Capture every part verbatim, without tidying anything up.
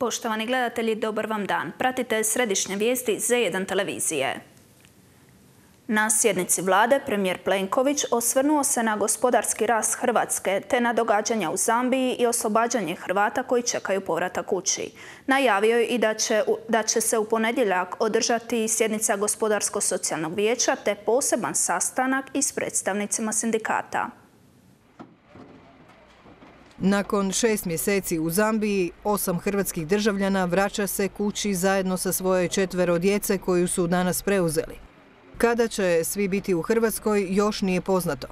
Poštovani gledatelji, dobar vam dan. Pratite središnje vijesti Z jedan televizije. Na sjednici vlade premijer Plenković osvrnuo se na gospodarski rast Hrvatske te na događanja u Zambiji i oslobađanje Hrvata koji čekaju povratak kući. Najavio je i da će, da će se u ponedjeljak održati sjednica Gospodarsko-socijalnog vijeća te poseban sastanak i s predstavnicima sindikata. Nakon šest mjeseci u Zambiji, osam hrvatskih državljana vraća se kući zajedno sa svoje četvero djece koju su danas preuzeli. Kada će svi biti u Hrvatskoj još nije poznato.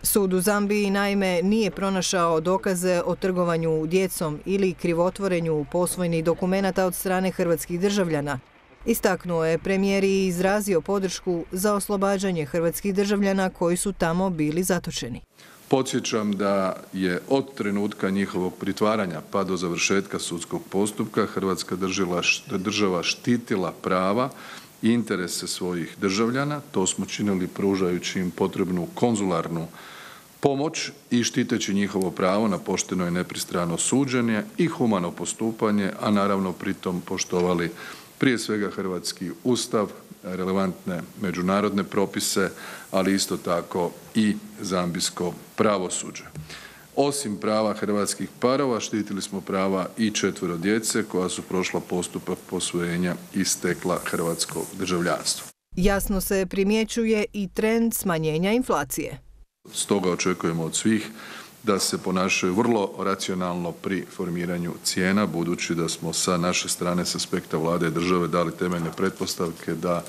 Sud u Zambiji naime nije pronašao dokaze o trgovanju djecom ili krivotvorenju posvojnih dokumenata od strane hrvatskih državljana. Istaknuo je premijer i izrazio podršku za oslobađanje hrvatskih državljana koji su tamo bili zatočeni. Podsjećam da je od trenutka njihovog pritvaranja pa do završetka sudskog postupka Hrvatska država štitila prava i interese svojih državljana. To smo činili pružajući im potrebnu konzularnu pomoć i štiteći njihovo pravo na pošteno i nepristrano suđenje i humano postupanje, a naravno pritom poštovali prije svega hrvatski ustav, relevantne međunarodne propise, ali isto tako i zambijsko pravosuđe. Osim prava hrvatskih parova, štitili smo prava i četvero djece koja su prošla postupak posvojenja i stekla hrvatsko državljanstvo. Jasno se primjećuje i trend smanjenja inflacije. Stoga očekujemo od svih da se ponašaju vrlo racionalno pri formiranju cijena, budući da smo sa naše strane, s aspekta vlade i države, dali temeljne pretpostavke da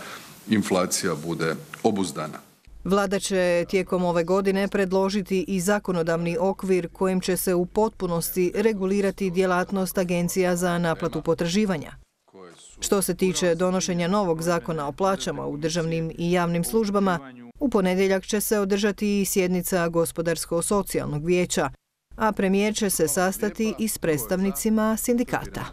inflacija bude obuzdana. Vlada će tijekom ove godine predložiti i zakonodavni okvir kojim će se u potpunosti regulirati djelatnost agencija za naplatu potraživanja. Što se tiče donošenja novog zakona o plaćama u državnim i javnim službama, u ponedjeljak će se održati i sjednica Gospodarsko-socijalnog vijeća, a premijer će se sastati i s predstavnicima sindikata.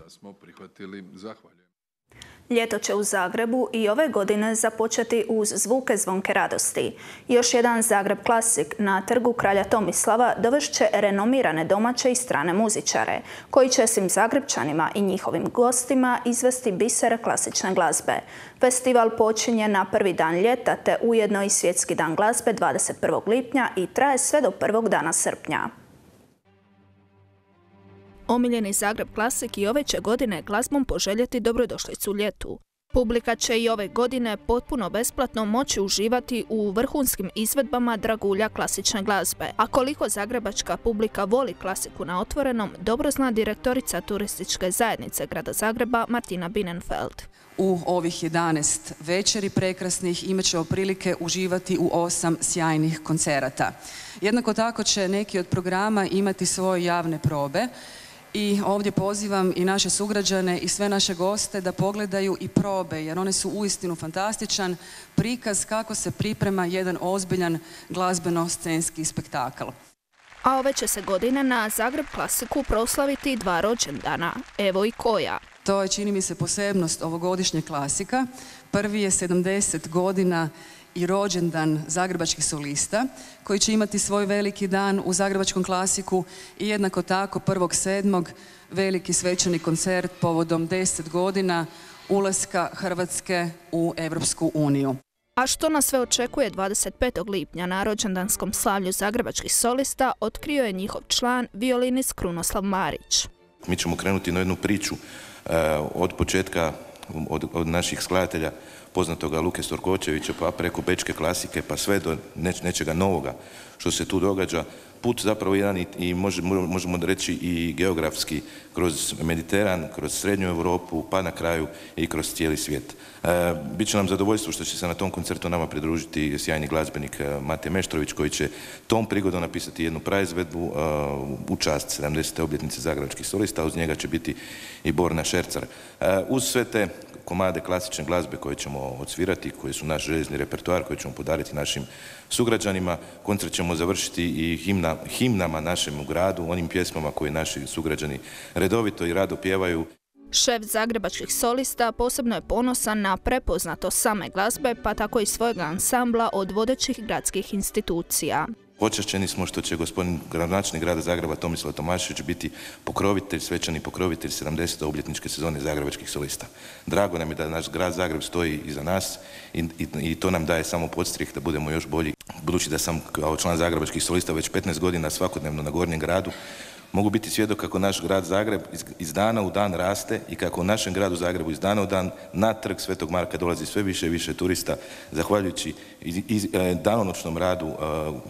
Ljeto će u Zagrebu i ove godine započeti uz zvuke zvonke radosti. Još jedan Zagreb Klasik na trgu Kralja Tomislava dovest će renomirane domaće i strane muzičare, koji će svim Zagrebčanima i njihovim gostima izvesti bisere klasične glazbe. Festival počinje na prvi dan ljeta te ujedno i Svjetski dan glazbe dvadeset prvog lipnja i traje sve do prvog dana srpnja. Omiljeni Zagreb Klasik i ove će godine glazbom poželjeti dobrodošlicu ljetu. Publika će i ove godine potpuno besplatno moći uživati u vrhunskim izvedbama dragulja klasične glazbe. A koliko zagrebačka publika voli klasiku na otvorenom, dobro zna direktorica turističke zajednice grada Zagreba Martina Bienenfeld. U ovih jedanaest večeri prekrasnih imat ćemo prilike uživati u osam sjajnih koncerata. Jednako tako će neki od programa imati svoje javne probe. I ovdje pozivam i naše sugrađane i sve naše goste da pogledaju i probe, jer one su uistinu fantastičan prikaz kako se priprema jedan ozbiljan glazbeno-scenski spektakl. A ove će se godine na Zagreb Klasiku proslaviti dva rođendana, evo i koja. To je, čini mi se, posebnost ovogodišnjeg Klasika. Prvi je sedamdeset godina i rođendan zagrebačkih solista, koji će imati svoj veliki dan u Zagrebačkom Klasiku i jednako tako prvog sedmog veliki svečani koncert povodom deset godina ulaska Hrvatske u Europsku uniju. A što nas sve očekuje dvadeset petog lipnja na rođendanskom slavlju zagrebačkih solista, otkrio je njihov član, violinist Krunoslav Marić. Mi ćemo krenuti na jednu priču od početka, od, od naših skladatelja, poznatoga Luke Storkočevića, pa preko bečke klasike, pa sve do neč, nečega novoga što se tu događa. Put zapravo jedan i, i može, možemo reći i geografski kroz Mediteran, kroz Srednju Europu, pa na kraju i kroz cijeli svijet. E, Biće nam zadovoljstvo što će se na tom koncertu nama pridružiti sjajni glazbenik Mate Meštrović, koji će tom prigodom napisati jednu praizvedbu uh, u čast sedamdesete obljetnice zagrebačkih solista, uz njega će biti i Borna Šercar. Uh, uz sve te komade klasične glazbe koje ćemo odsvirati, koji su naš željezni repertoar, koji ćemo podariti našim sugrađanima. Koncert ćemo završiti i himna, himnama našem gradu, onim pjesmama koje naši sugrađani redovito i rado pjevaju. Šef zagrebačkih solista posebno je ponosan na prepoznatost same glazbe, pa tako i svojeg ansambla od vodećih gradskih institucija. Počašćeni smo što će gospodin gradonačelnik grada Zagreba Tomislav Tomašević biti pokrovitelj, svečani pokrovitelj sedamdesete obljetničke sezone zagrebačkih solista. Drago nam je da naš grad Zagreb stoji iza nas i, i, i to nam daje samo podstrih da budemo još bolji. Budući da sam kao član zagrebačkih solista već petnaest godina svakodnevno na Gornjem gradu, mogu biti svjedok kako naš grad Zagreb iz, iz dana u dan raste i kako u našem gradu Zagrebu iz dana u dan na trg Svetog Marka dolazi sve više i više turista, zahvaljujući iz, iz, danonoćnom radu uh,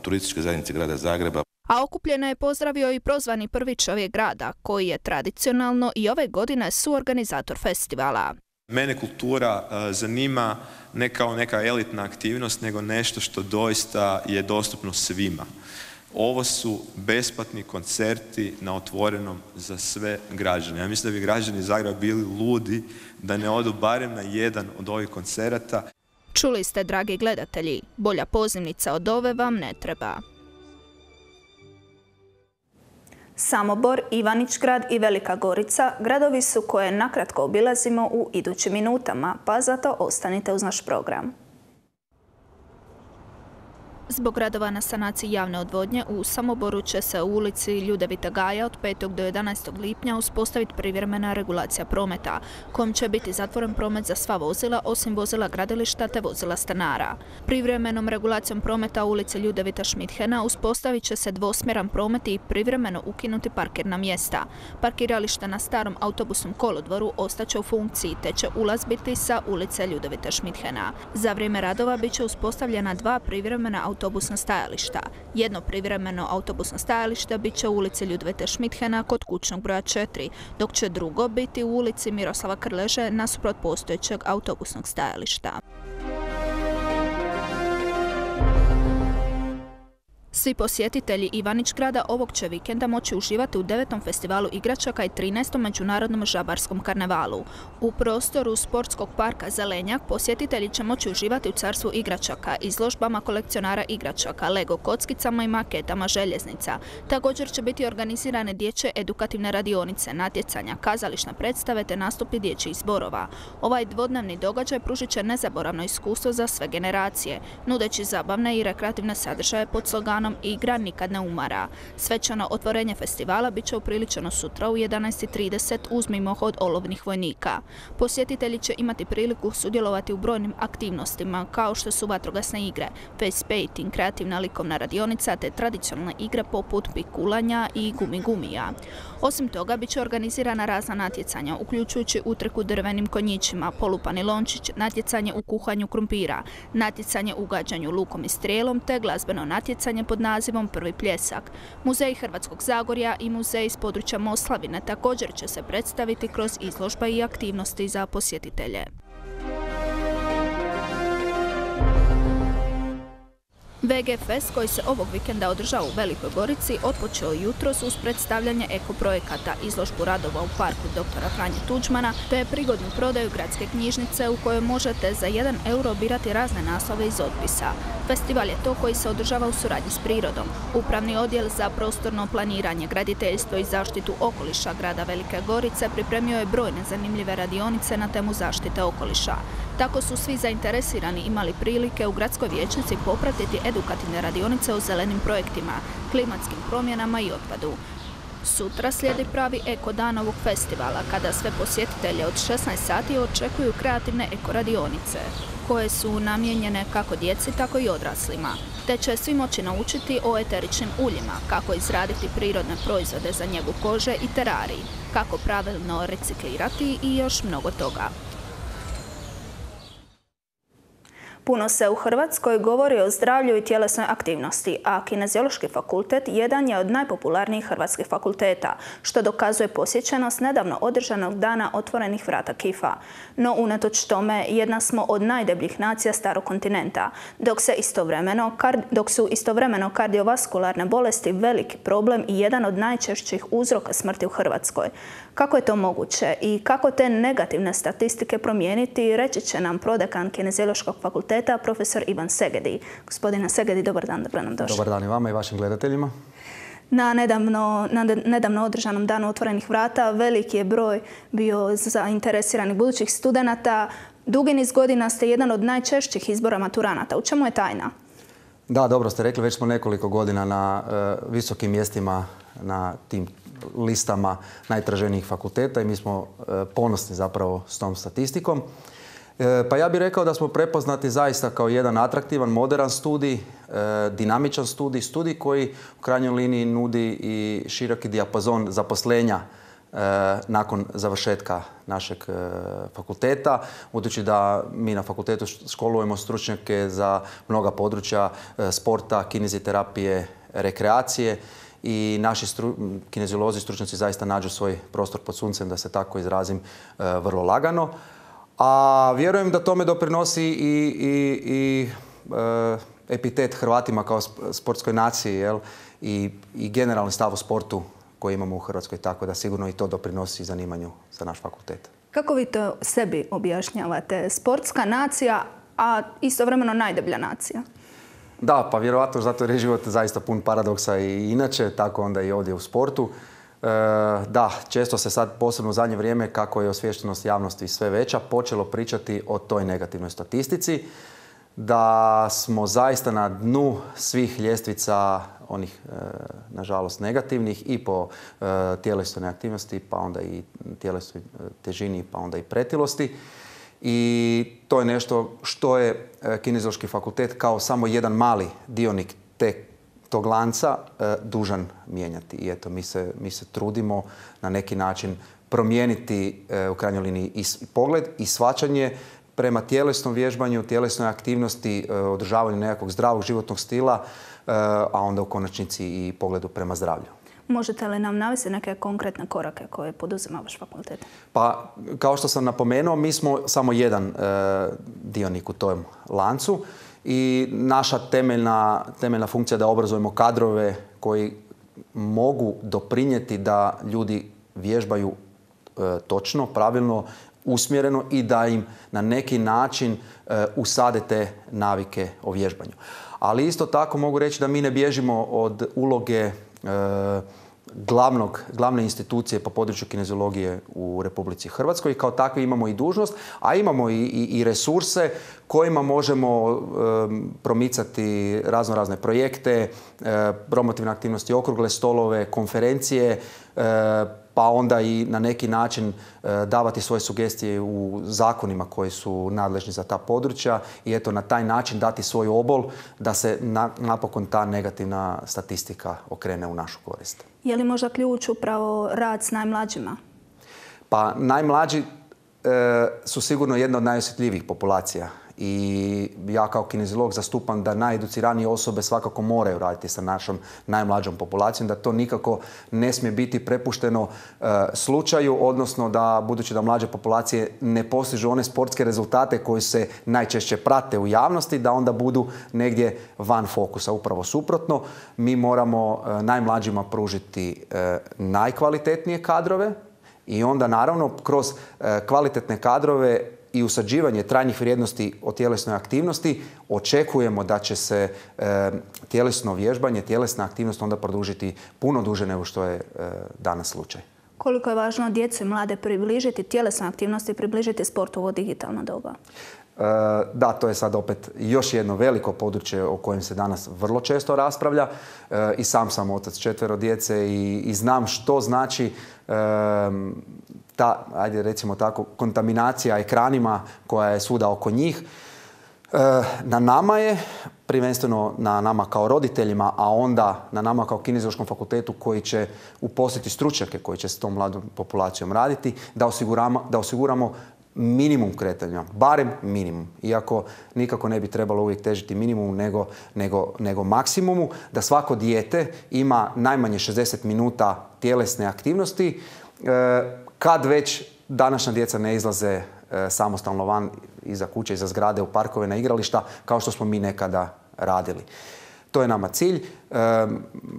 turističke zajednice grada Zagreba. A okupljeno je pozdravio i prozvani prvi čovjek grada, koji je tradicionalno i ove godine suorganizator festivala. Mene kultura uh, zanima ne kao neka elitna aktivnost, nego nešto što doista je dostupno svima. Ovo su besplatni koncerti na otvorenom za sve građane. Ja mislim da bi građani Zagreba bili ludi da ne odu barem na jedan od ovih koncerata. Čuli ste, dragi gledatelji, bolja pozivnica od ove vam ne treba. Samobor, Ivanić-Grad i Velika Gorica gradovi su koje nakratko obilazimo u idućim minutama, pa zato ostanite uz naš program. Zbog radova na sanaciji javne odvodnje u Samoboru će se u ulici Ljudevita Gaja od petog do jedanaestog lipnja uspostaviti privremena regulacija prometa, kojom će biti zatvoren promet za sva vozila osim vozila gradilišta te vozila stanara. Privremenom regulacijom prometa u ulici Ljudevita Šmidhena uspostavit će se dvosmjeran promet i privremeno ukinuti parkirna mjesta. Parkirališta na starom autobusnom kolodvoru ostaće u funkciji te će ulaz biti sa ulice Ljudevita Šmidhena. Za vrijeme radova bit će uspostavljena dva privremena autobusna autobusna stajališta. Jedno privremeno autobusno stajalište bit će u ulici Ljudevite Šmidhena kod kućnog broja četiri, dok će drugo biti u ulici Miroslava Krleže nasuprot postojećeg autobusnog stajališta. Svi posjetitelji Ivanić-Grada ovog će vikenda moći uživati u devetom festivalu igračaka i trinaestom međunarodnom žabarskom karnevalu. U prostoru sportskog parka Zelenjak posjetitelji će moći uživati u carstvu igračaka, izložbama kolekcionara igračaka, Lego kockicama i maketama željeznica. Također će biti organizirane dječje edukativne radionice, natjecanja, kazališne predstave te nastupi dječjih zborova. Ovaj dvodnevni događaj pružit će nezaboravno iskustvo za sve generacije, nudeći zabavne i rekreativne sadržaje pod sloganom Igra nikad ne umara. Svečano otvorenje festivala bit će upriličeno sutra u jedanaest i trideset uz mimohod olovnih vojnika. Posjetitelji će imati priliku sudjelovati u brojnim aktivnostima kao što su vatrogasne igre, face painting, kreativna likovna radionica te tradicionalne igre poput pikulanja i gumi-gumija. Osim toga, bit će organizirana razna natjecanja, uključujući utrku drvenim konjićima, polupani lončić, natjecanje u kuhanju krumpira, natjecanje u gađanju lukom i strijelom te glazbeno natjecanje pod nazivom Prvi pljesak. Muzej Hrvatskog Zagorja i muzej iz područja Moslavine također će se predstaviti kroz izložba i aktivnosti za posjetitelje. V G Fest koji se ovog vikenda održava u Velikoj Gorici otpočeo jutros uz predstavljanje ekoprojekata, izložbu radova u parku doktora Franje Tuđmana te prigodnu prodaju gradske knjižnice u kojoj možete za jedan euro birati razne naslove iz otpisa. Festival je to koji se održava u suradnji s prirodom. Upravni odjel za prostorno planiranje, graditeljstvo i zaštitu okoliša grada Velike Gorice pripremio je brojne zanimljive radionice na temu zaštite okoliša. Tako su svi zainteresirani imali prilike u gradskoj vijećnici popratiti edukativne radionice o zelenim projektima, klimatskim promjenama i otpadu. Sutra slijedi pravi eko dan ovog festivala, kada sve posjetitelje od šesnaest sati očekuju kreativne eko radionice, koje su namijenjene kako djeci, tako i odraslima. Te će svi moći naučiti o eteričnim uljima, kako izraditi prirodne proizvode za njegu kože i terarij, kako pravilno reciklirati i još mnogo toga. Puno se u Hrvatskoj govori o zdravlju i tjelesnoj aktivnosti, a Kineziološki fakultet jedan je od najpopularnijih hrvatskih fakulteta, što dokazuje posjećenost nedavno održanog dana otvorenih vrata K I F-a. No, unatoč tome, jedna smo od najdebljih nacija starog kontinenta, dok, se istovremeno, dok su istovremeno kardiovaskularne bolesti veliki problem i jedan od najčešćih uzroka smrti u Hrvatskoj. Kako je to moguće i kako te negativne statistike promijeniti, reći će nam prodekan Kineziološkog fakulteta, profesor Ivan Segedi. Gospodine Segedi, dobar dan, dobro nam došli. Dobar dan i vama i vašim gledateljima. Na nedavno, na nedavno održanom danu otvorenih vrata veliki je broj bio zainteresiranih budućih studenata. Dugi niz godina ste jedan od najčešćih izbora maturanata. U čemu je tajna? Da, dobro ste rekli, već smo nekoliko godina na uh, visokim mjestima na tim listama najtraženijih fakulteta i mi smo uh, ponosni zapravo s tom statistikom. Uh, pa ja bih rekao da smo prepoznati zaista kao jedan atraktivan, moderan studij, uh, dinamičan studij, studij koji u krajnjoj liniji nudi i široki dijapazon zaposlenja nakon završetka našeg fakulteta, budući da mi na fakultetu školujemo stručnjake za mnoga područja sporta, kineziterapije, rekreacije i naši stru, kineziolozi, stručnjaci zaista nađu svoj prostor pod suncem, da se tako izrazim, vrlo lagano. A vjerujem da tome doprinosi i, i, i e, epitet Hrvatima kao sportskoj naciji, jel? I, i generalni stav o sportu koji imamo u Hrvatskoj, tako da sigurno i to doprinosi zanimanju za naš fakultet. Kako vi to sebi objašnjavate? Sportska nacija, a istovremeno najdeblja nacija? Da, pa vjerovatno zato jer je život zaista pun paradoksa i inače, tako onda i ovdje u sportu. E, da, često se sad, posebno u zadnje vrijeme, kako je osviještenost javnosti sve veća, počelo pričati o toj negativnoj statistici, da smo zaista na dnu svih ljestvica onih, e, nažalost, negativnih i po e, tjelesnoj aktivnosti, pa onda i tjelesnoj težini, pa onda i pretilosti. I to je nešto što je Kineziološki fakultet kao samo jedan mali dionik te, tog lanca e, dužan mijenjati. I eto, mi se, mi se trudimo na neki način promijeniti e, u krajnjoj liniji i pogled i shvaćanje prema tjelesnom vježbanju, tjelesnoj aktivnosti, e, održavanju nekakvog zdravog životnog stila, e, a onda u konačnici i pogledu prema zdravlju. Možete li nam navesti neke konkretne korake koje poduzima vaš fakultet? Pa, kao što sam napomenuo, mi smo samo jedan e, dionik u tom lancu i naša temeljna, temeljna funkcija je da obrazujemo kadrove koji mogu doprinijeti da ljudi vježbaju e, točno, pravilno, usmjereno i da im na neki način e, usade te navike o vježbanju. Ali isto tako mogu reći da mi ne bježimo od uloge e, Glavnog, glavne institucije po području kineziologije u Republici Hrvatskoj i kao takvi imamo i dužnost, a imamo i, i, i resurse kojima možemo e, promicati razno razne projekte, e, promotivne aktivnosti, okrugle stolove, konferencije, e, pa onda i na neki način e, davati svoje sugestije u zakonima koji su nadležni za ta područja i eto na taj način dati svoj obol da se na, napokon ta negativna statistika okrene u našu korist. Je li možda ključ upravo rad s najmlađima? Pa najmlađi e, su sigurno jedna od najosjetljivijih populacija i ja kao kineziolog zastupam da najeduciranije osobe svakako moraju raditi sa našom najmlađom populacijom, da to nikako ne smije biti prepušteno e, slučaju, odnosno da budući da mlađe populacije ne postižu one sportske rezultate koji se najčešće prate u javnosti, da onda budu negdje van fokusa. Upravo suprotno, mi moramo e, najmlađima pružiti e, najkvalitetnije kadrove i onda naravno kroz e, kvalitetne kadrove i usađivanje trajnih vrijednosti o tjelesnoj aktivnosti očekujemo da će se e, tjelesno vježbanje, tjelesna aktivnost onda produžiti puno duže nego što je e, danas slučaj. Koliko je važno djecu i mlade približiti tjelesnoj aktivnosti i približiti sport u ovo digitalno doba? E, da, to je sad opet još jedno veliko područje o kojem se danas vrlo često raspravlja. E, I sam sam otac četvero djece i, i znam što znači e, ta, ajde recimo tako, kontaminacija ekranima koja je svuda oko njih. E, na nama je, prvenstveno na nama kao roditeljima, a onda na nama kao Kineziološkom fakultetu koji će uposliti stručnjake koji će s tom mladom populacijom raditi, da osiguramo, da osiguramo minimum kretanja, barem minimum. Iako nikako ne bi trebalo uvijek težiti minimumu nego, nego, nego maksimumu, da svako dijete ima najmanje šezdeset minuta tjelesne aktivnosti, e, kad već današnja djeca ne izlaze e, samostalno van iza kuće, iza zgrade, u parkove, na igrališta, kao što smo mi nekada radili. To je nama cilj. E,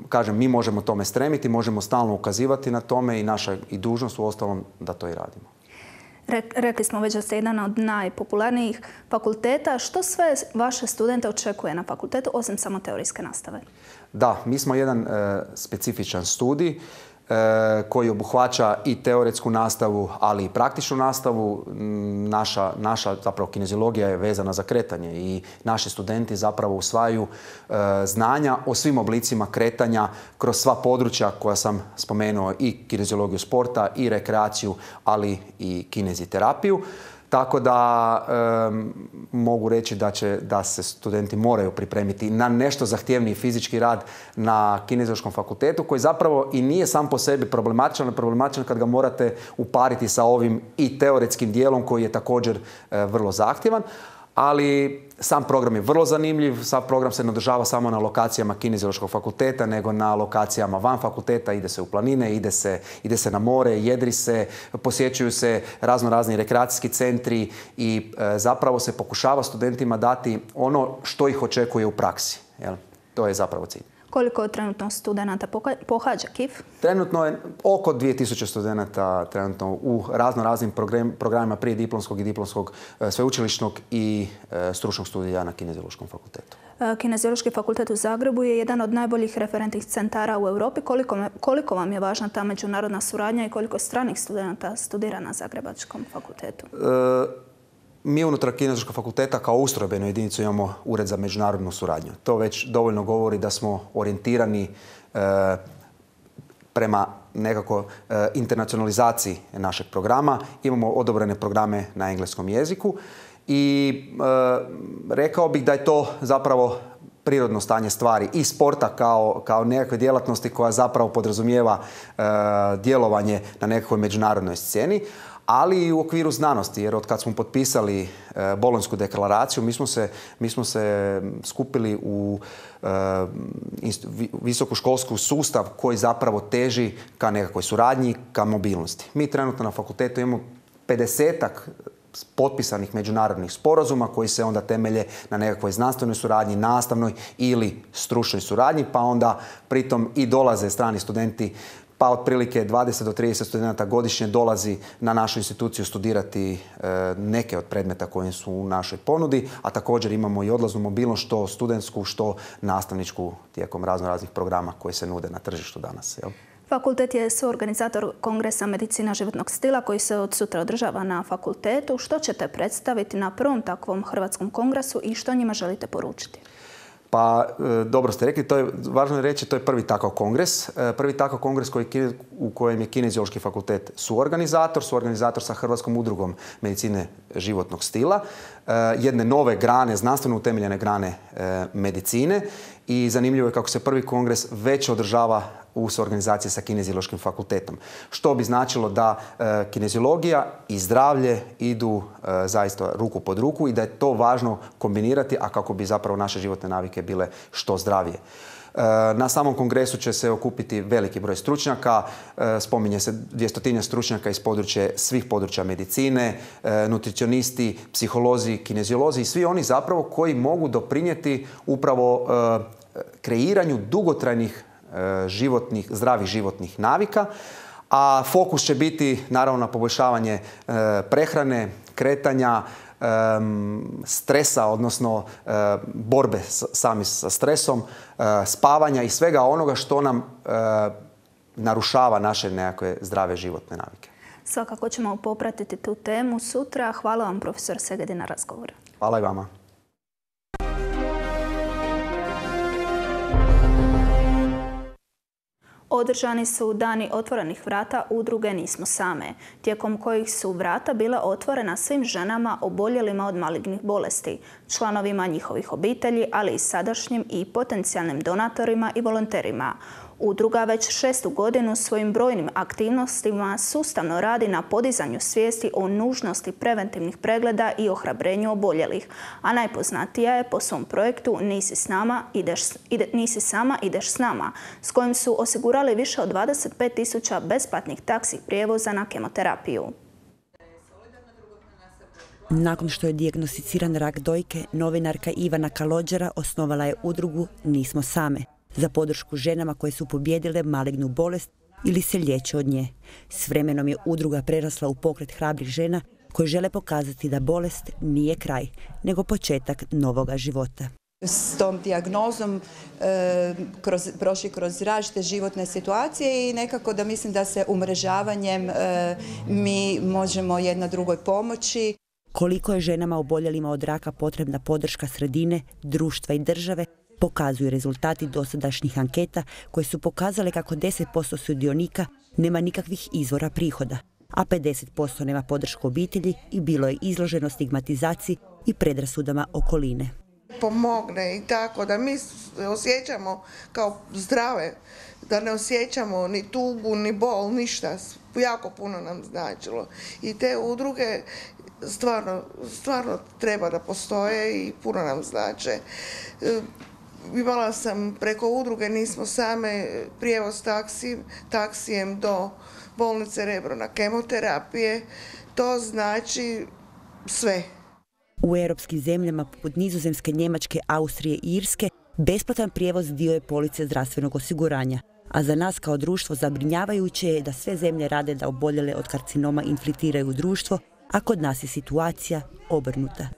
kažem, mi možemo tome stremiti, možemo stalno ukazivati na tome i naša i dužnost u ostalom da to i radimo. Rekli smo već da ste jedan od najpopularnijih fakulteta. Što sve vaše studente očekuje na fakultetu, osim samo teorijske nastave? Da, mi smo jedan e, specifičan studij. koji obuhvaća i teoretsku nastavu, ali i praktičnu nastavu. Naša, naša zapravo kineziologija je vezana za kretanje i naši studenti zapravo usvajaju znanja o svim oblicima kretanja kroz sva područja koja sam spomenuo, i kineziologiju sporta, i rekreaciju, ali i kineziterapiju. Tako da e, mogu reći da, će, da se studenti moraju pripremiti na nešto zahtjevniji fizički rad na Kineziološkom fakultetu, koji zapravo i nije sam po sebi problematičan, problematičan kad ga morate upariti sa ovim i teoretskim dijelom koji je također e, vrlo zahtjevan. Ali sam program je vrlo zanimljiv, sam program se ne održava samo na lokacijama Kineziološkog fakulteta, nego na lokacijama van fakulteta, ide se u planine, ide se, ide se na more, jedri se, posjećuju se razno razni rekreacijski centri i e, zapravo se pokušava studentima dati ono što ih očekuje u praksi. Jel? To je zapravo cilj. Koliko trenutno studenata pohađa K I F? Trenutno je oko dvije tisuće studenata trenutno u razno raznim programima prije diplomskog i diplomskog sveučilišnog i stručnog studija na Kineziološkom fakultetu. Kineziološki fakultet u Zagrebu je jedan od najboljih referentnih centara u Europi. Koliko, koliko vam je važna ta međunarodna suradnja i koliko stranih studenata studira na Zagrebačkom fakultetu? E, Mi unutar Kineziološkog fakulteta kao ustrojbenu jedinicu imamo Ured za međunarodnu suradnju. To već dovoljno govori da smo orijentirani e, prema nekako e, internacionalizaciji našeg programa. Imamo odobrene programe na engleskom jeziku i e, rekao bih da je to zapravo prirodno stanje stvari i sporta kao, kao nekakve djelatnosti koja zapravo podrazumijeva e, djelovanje na nekakvoj međunarodnoj sceni, ali i u okviru znanosti, jer od kad smo potpisali e, Bolonjsku deklaraciju, mi smo se, mi smo se skupili u e, visokoškolsku sustav koji zapravo teži ka nekakvoj suradnji, ka mobilnosti. Mi trenutno na fakultetu imamo pedesetak potpisanih međunarodnih sporazuma koji se onda temelje na nekakvoj znanstvenoj suradnji, nastavnoj ili stručnoj suradnji, pa onda pritom i dolaze strani studenti, pa otprilike dvadeset do trideset studenata godišnje dolazi na našu instituciju studirati e, neke od predmeta koji su u našoj ponudi, a također imamo i odlaznu mobilnost, što studentsku, što nastavničku, tijekom razno raznih programa koji se nude na tržištu danas. Jel? Fakultet je suorganizator Kongresa medicina životnog stila koji se od sutra održava na fakultetu. Što ćete predstaviti na prvom takvom hrvatskom kongresu i što njima želite poručiti? Pa, dobro ste rekli, to je važno je reći, to je prvi takav kongres. Prvi takav kongres koji, u kojem je Kineziološki fakultet suorganizator, suorganizator sa Hrvatskom udrugom medicine životnog stila, jedne nove grane, znanstveno utemeljene grane medicine, i zanimljivo je kako se prvi kongres već održava u suorganizaciji sa Kineziološkim fakultetom. Što bi značilo da e, kineziologija i zdravlje idu e, zaista ruku pod ruku i da je to važno kombinirati, a kako bi zapravo naše životne navike bile što zdravije. E, na samom kongresu će se okupiti veliki broj stručnjaka, e, spominje se dvjestotinja stručnjaka iz područja, svih područja medicine, e, nutricionisti, psiholozi, kineziolozi i svi oni zapravo koji mogu doprinijeti upravo e, kreiranju dugotrajnih životnih, zdravih životnih navika, a fokus će biti naravno na poboljšavanje e, prehrane, kretanja, e, stresa, odnosno e, borbe s, sami sa stresom, e, spavanja i svega onoga što nam e, narušava naše nekakve zdrave životne navike. Svakako ćemo popratiti tu temu sutra. Hvala vam, profesor Segedi, na razgovor. Hvala i vama. Održani su dani otvorenih vrata udruge Nismo same, tijekom kojih su vrata bila otvorena svim ženama oboljelima od malignih bolesti, članovima njihovih obitelji, ali i sadašnjim i potencijalnim donatorima i volonterima. Udruga već šestu godinu svojim brojnim aktivnostima sustavno radi na podizanju svijesti o nužnosti preventivnih pregleda i ohrabrenju oboljelih, a najpoznatija je po svom projektu Nisi s nama, ideš, ide, Nisi sama, ideš s nama, s kojim su osigurali više od dvadeset pet tisuća besplatnih taksi prijevoza na kemoterapiju. Nakon što je dijagnosticiran rak dojke, novinarka Ivana Kalođera osnovala je udrugu Nismo same za podršku ženama koje su pobijedile malignu bolest ili se liječe od nje. S vremenom je udruga prerasla u pokret hrabrih žena koji žele pokazati da bolest nije kraj, nego početak novoga života. S tom dijagnozom e, kroz, prošli kroz različite životne situacije i nekako da mislim da se umrežavanjem e, mi možemo jedna drugoj pomoći. Koliko je ženama oboljelima od raka potrebna podrška sredine, društva i države, pokazuju rezultati dosadašnjih anketa koje su pokazale kako deset posto sudionika nema nikakvih izvora prihoda, a pedeset posto nema podršku obitelji i bilo je izloženo stigmatizaciji i predrasudama okoline. Pomogne i tako da mi osjećamo kao zdrave, da ne osjećamo ni tugu, ni bol, ništa. Jako puno nam značilo. I te udruge stvarno, stvarno treba da postoje i puno nam znače. Imala sam preko udruge, nismo same, prijevoz taksi, taksijem do bolnice Rebro na kemoterapije. To znači sve. U europskim zemljama poput Nizozemske, Njemačke, Austrije i Irske besplatan prijevoz dio je police zdravstvenog osiguranja. A za nas kao društvo zabrinjavajuće je da sve zemlje rade da oboljele od karcinoma infiltriraju u društvo, a kod nas je situacija obrnuta.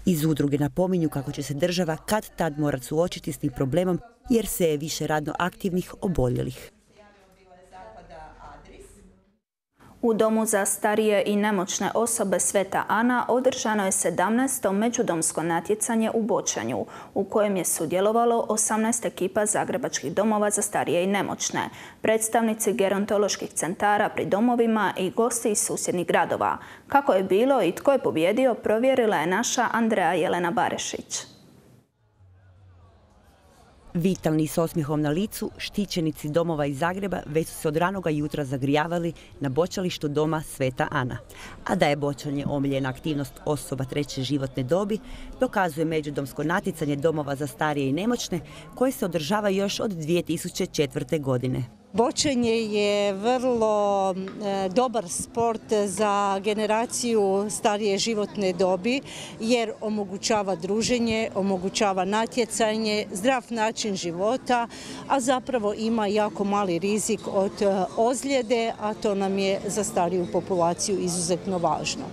Iz udruge napominju kako će se država kad tad morati suočiti s tim problemom jer se je više radno aktivnih oboljelih. U Domu za starije i nemoćne osobe Sveta Ana održano je sedamnaesto međudomsko natjecanje u bočanju, u kojem je sudjelovalo osamnaest ekipa zagrebačkih domova za starije i nemoćne, predstavnici gerontoloških centara pri domovima i gosti iz susjednih gradova. Kako je bilo i tko je pobjedio, provjerila je naša Andreja Jelena Barešić. Vitalni s osmijehom na licu, štićenici domova iz Zagreba već su se od ranoga jutra zagrijavali na bočalištu Doma Sveta Ana. A da je bočanje omiljena aktivnost osoba treće životne dobi, dokazuje međudomsko natjecanje domova za starije i nemoćne koje se održava još od dvije tisuće četvrte. godine. Bočanje je vrlo e, dobar sport za generaciju starije životne dobi jer omogućava druženje, omogućava natjecanje, zdrav način života, a zapravo ima jako mali rizik od e, ozljede, a to nam je za stariju populaciju izuzetno važno.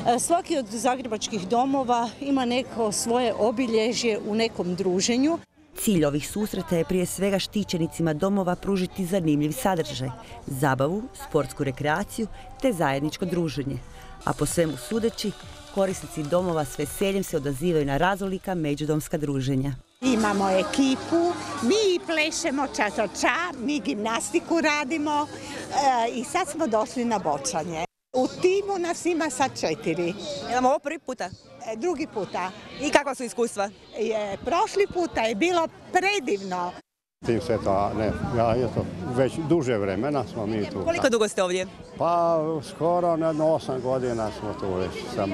E, svaki od zagrebačkih domova ima neko svoje obilježje u nekom druženju. Cilj ovih susreta je prije svega štićenicima domova pružiti zanimljiv sadržaj, zabavu, sportsku rekreaciju te zajedničko druženje. A po svemu sudeći, korisnici domova s veseljem se odazivaju na raznolika međudomska druženja. Imamo ekipu, mi plešemo ča-ča-ča, mi gimnastiku radimo e, i sad smo došli na bočanje. U timu nas ima sad četiri. Imamo ovo prvi puta? E, drugi puta. I kakva su iskustva? Je, prošli puta je bilo predivno. Tim Sveta, ne, ja eto, već duže vremena smo mi tu. Koliko dugo ste ovdje? Pa skoro na osam godina smo tu već sam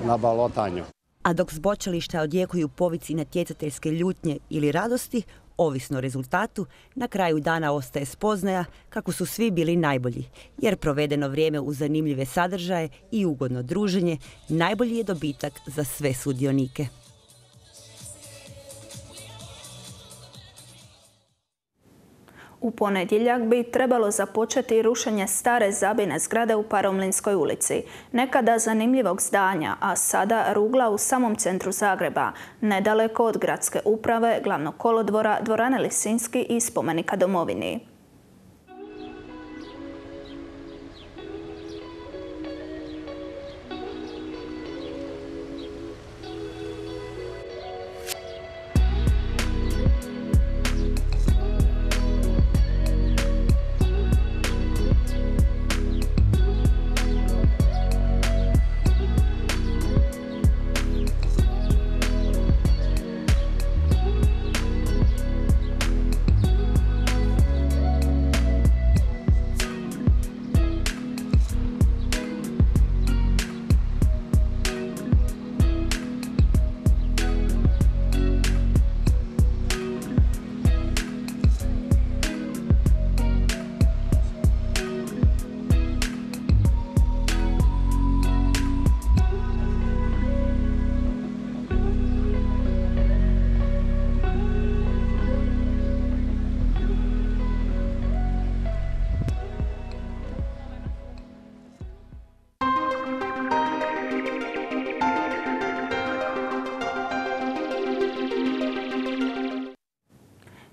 na balotanju. A dok s bočališta odjekuju povici natjecateljske ljutnje ili radosti, ovisno o rezultatu, na kraju dana ostaje spoznaja kako su svi bili najbolji, jer provedeno vrijeme uz zanimljive sadržaje i ugodno druženje najbolji je dobitak za sve sudionike. U ponedjeljak bi trebalo započeti rušenje stare zabine zgrade u Paromlinskoj ulici, nekada zanimljivog zdanja, a sada rugla u samom centru Zagreba, nedaleko od gradske uprave, glavnog kolodvora, dvorane Lisinski i spomenika domovini.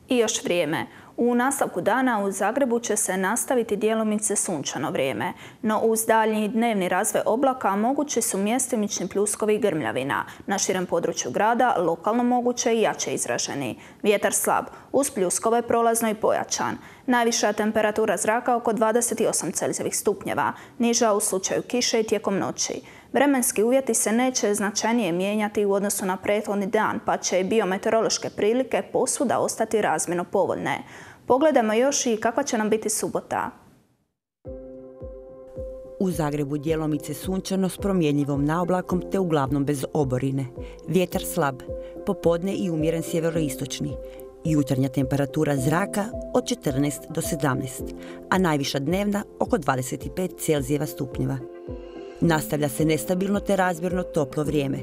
I još vrijeme. U nastavku dana u Zagrebu će se nastaviti djelomice sunčano vrijeme, no uz daljnji dnevni razvoj oblaka mogući su mjestimični pljuskovi i grmljavina. Na širem području grada lokalno moguće i jače izraženi. Vjetar slab, uz pljuskove prolazno i pojačan. Najviša temperatura zraka oko dvadeset osam Celzijevih stupnjeva, niža u slučaju kiše i tijekom noći. Vremenski uvjeti se neće značajnije mijenjati u odnosu na prethodni dan, pa će i biometeorološke prilike posvuda ostati razmjerno povoljne. Pogledajmo još i kakva će nam biti subota. U Zagrebu djelomice sunčano s promjenjivom naoblakom te uglavnom bez oborine. Vjetar slab, popodne i umjeren sjeveroistočni. Jutarnja temperatura zraka od četrnaest do sedamnaest, a najviša dnevna oko dvadeset pet Celzijeva stupnjeva. Nastavlja se nestabilno te razmjerno toplo vrijeme.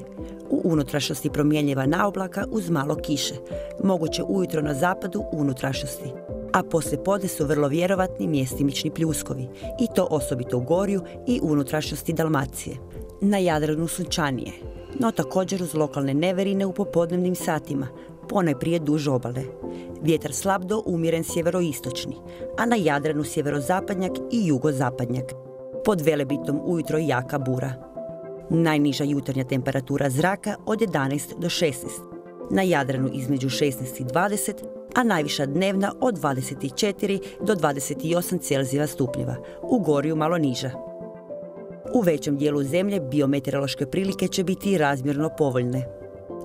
U unutrašnjosti promjenjiva naoblaka uz malo kiše, moguće ujutro na zapadu unutrašnjosti. A poslije podne su vrlo vjerovatni mjestimični pljuskovi, i to osobito u Gorju i unutrašnjosti Dalmacije. Na Jadranu sunčanije, no također uz lokalne neverine u popodnevnim satima, ponajprije duž obale. Vjetar slab do umjeren sjeveroistočni, a na Jadranu sjeverozapadnjak i jugozapadnjak. Pod Velebitom ujutro jaka bura. Najniža jutarnja temperatura zraka od jedanaest do šesnaest. Na Jadranu između šesnaest i dvadeset, a najviša dnevna od dvadeset četiri do dvadeset osam Celzijeva stupnjeva. U Gorju malo niža. U većem dijelu zemlje biometeorološke prilike će biti razmjerno povoljne.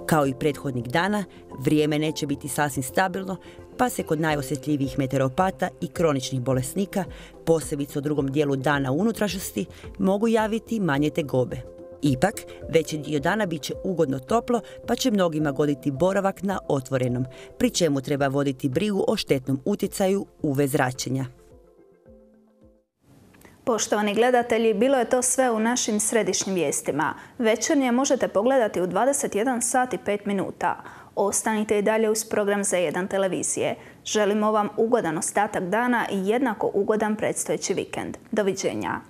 Kao i prethodnih dana, vrijeme neće biti sasvim stabilno, pa se kod najosjetljivijih meteoropata i kroničnih bolesnika, posebice u drugom dijelu dana u unutrašnjosti, mogu javiti manje tegobe. Ipak, veći dio dana bit će ugodno toplo, pa će mnogima goditi boravak na otvorenom, pri čemu treba voditi brigu o štetnom utjecaju U V zračenja. Poštovani gledatelji, bilo je to sve u našim središnjim vijestima. Večernje možete pogledati u dvadeset jedan sat i pet minuta. Ostanite i dalje uz program Z jedan televizije. Želimo vam ugodan ostatak dana i jednako ugodan predstojeći vikend. Doviđenja.